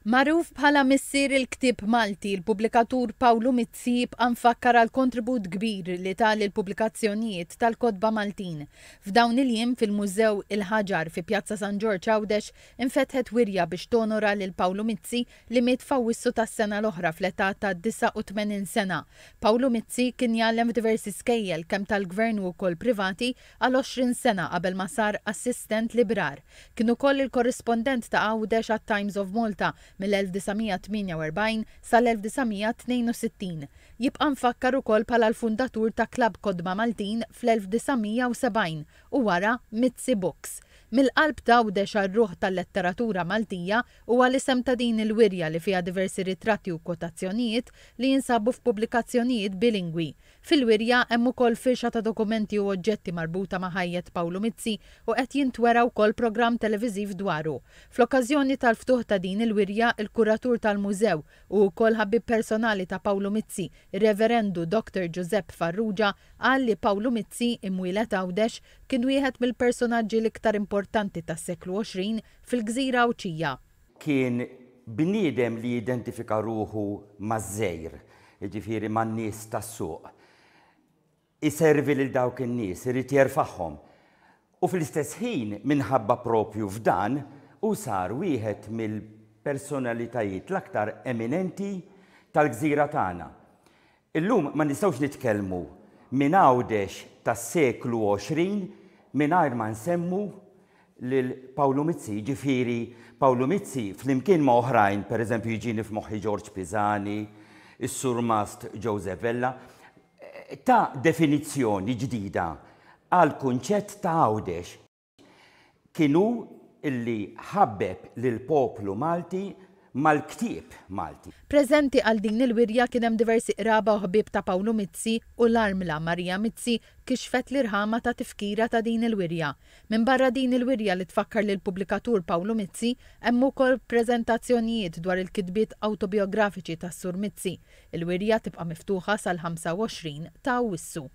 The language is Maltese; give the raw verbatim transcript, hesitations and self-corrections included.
Magħruf bħala missier il-ktieb Malti, il-pubblikatur Pawlu Mizzi jibqa' mfakkar għal kontribut kbir li ta lill-pubblikazzjonijiet tal-kotba Maltin. F'dawn il-jiem fil-Mużew Il-Ħaġar fi Pjazza San Ġorġ Għawdex infetħet wirja biex tonora lil Pawlu Mizzi li miet f'Awwissu tas-sena l-oħra fl-età ta' disgħa u tmenin sena. Pawlu Mizzi kien jgħallem f'diversi skejjel kemm tal-gvern u wkoll privati għal għoxrin sena qabel ma sar assistent librar. Kien ukoll il-korrispondent ta' Għawdex għat-Times of Malta mill-elf disa' mija tmienja u erbgħin sal-elf disa' mija tnejn u sittin. Jibqa' mfakkar ukoll bħala l-fundatur ta' Klabb Kotba Maltin fl-elf disa' mija u sebgħin u wara Mizzi Books. Mill-qalb ta' Għawdex għar-ruħ tal-letteratura Maltija huwa l-isem ta' din il-wirja li fiha diversi ritratti u kwotazzjonijiet li jinsabu f'pubblikazzjonijiet bilingwi. Fil-wirja hemm ukoll firxa ta' dokumenti u oġġetti marbuta ma' ħajjet Pawlu Mizzi u qed jintwera wkoll programm televiżiv dwaru. Fl-okkażjoni tal-ftuħ ta' din il-wirja, il-kuratur tal-mużew u wkoll ħabib personali ta' Pawlu Mizzi, ir-Reverendu Doctor Giuseppe Farrugia, qal li Pawlu Mizzi, imwieled Għawdex, kien wieħed mill-personaġġi l-iktar importanti tas-seklu għoxrin fil-Gżira Għawdxija. Kien bniedem li jidentifika ruħu maż-żejr, jiġifieri man-nies tas-suq. Iservi lil dawk in-nies, irid jerfagħhom. U fl-istess ħin, minħabba propju f'dan, hu sar wieħed mill-personalitajiet l-aktar eminenti tal-gżira tagħna. Illum ma nistgħux nitkellmu minn Għawdex tas-seklu għoxrin mingħajr ma nsemmu lil Pawlu Mizzi, jiġifieri Pawlu Mizzi flimkien ma' oħrajn, pereżempju jiġini f'moħħi George Pisani, is-Surmast Joseph Vella, ta' definizzjoni ġdida għal kunċett ta' Għawdex. Kien hu illi ħabbeb lil poplu Malti mal-ktieb Malti. Preżenti għal din il-wirja kien hemm diversi qraba u ħbieb ta' Pawlu Mizzi u l-armla Maria Mizzi kixfet l-irħama ta' tifkira ta' din il-wirja. Minn barra din il-wirja li tfakkar lil pubblikatur Pawlu Mizzi, hemm ukoll preżentazzjonijiet dwar il-kitbiet awtobiografiċi tas-Sur Mizzi. Il-wirja tibqa' miftuħa sal-ħamsa u għoxrin ta' Awwissu.